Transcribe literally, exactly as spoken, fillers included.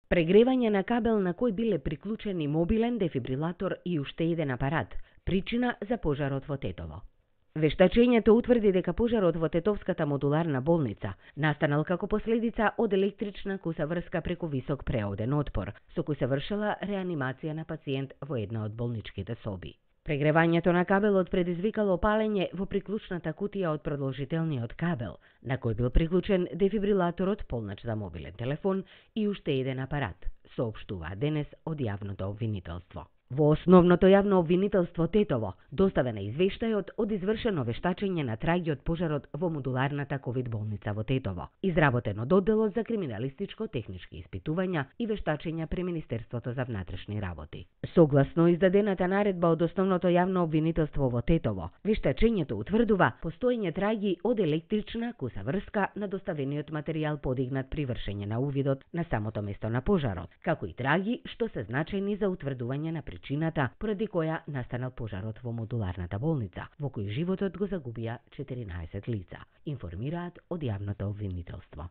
Прегревање на кабел на кој биле приклучени мобилен дефибрилатор и уште еден апарат, причина за пожарот во Тетово. Вештачењето утврди дека пожарот во Тетовската модуларна болница настанал како последица од електрична куса врска преку висок преоден отпор, со кој се вршела реанимација на пациент во една од болничките соби. Прегревањето на кабелот предизвикало палење во приклучната кутија од продолжителниот кабел, на кој бил приклучен дефибрилаторот, полнач за мобилен телефон и уште еден апарат, соопштува денес од јавното обвинителство. Во основното јавно обвинителство Тетово доставена извештајот од извршено вештачење на траги од пожарот во модуларната ковид болница во Тетово, изработен од одделот за криминалистичко-технички испитувања и вештачења при Министерството за внатрешни работи. Согласно издадената наредба од основното јавно обвинителство во Тетово, вештачењето утврдува постоење траги од електрична куса врска на доставениот материјал подигнат при вршење на увидот на самото место на пожарот, како и траги што се значајни за утврдување на причината поради која настанал пожарот во модуларната болница, во кој животот го загубија четиринаесет лица, информираат од јавното обвинителство.